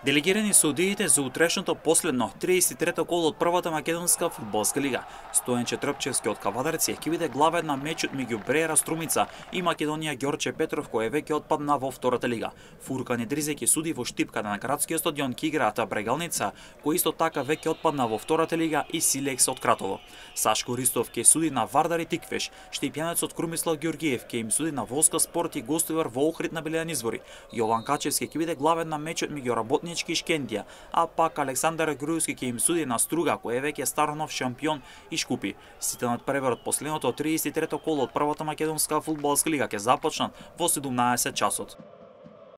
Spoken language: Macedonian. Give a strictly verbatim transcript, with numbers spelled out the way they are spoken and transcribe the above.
Делегирани судиите за утрешното последно триесет и трето коло од првата македонска фудбалска лига. Стојанче Трпчевски од Кавадарци ќе биде главен на мечот меѓу Бреера Струмица и Македонија Ѓорче Петров, кој веќе отпадна во втората лига. Фуркан Идризе ќе суди во Штипката на градскиот стадион ќе играат Брегалница, кој исто така веќе отпадна во втората лига, и Силекс од Кратово. Сашко Ристов ќе суди на Вардар и Тиквеш. Штипјанецот Крумислав Ѓоргиев ќе им суди на Волска Спорт и Гостивар во Охрид на Белијан Извори. Јован Качевски ќе биде главен на мечот меѓу Работнички и Шкендија, а пак Александар Груевски ќе им суди на Струга, кој е веќе Старонов шампион и Шкупи. Сите надпревар од последното триесет и трето коло од првата македонска фудбалска лига ќе започнат во седумнаесет часот.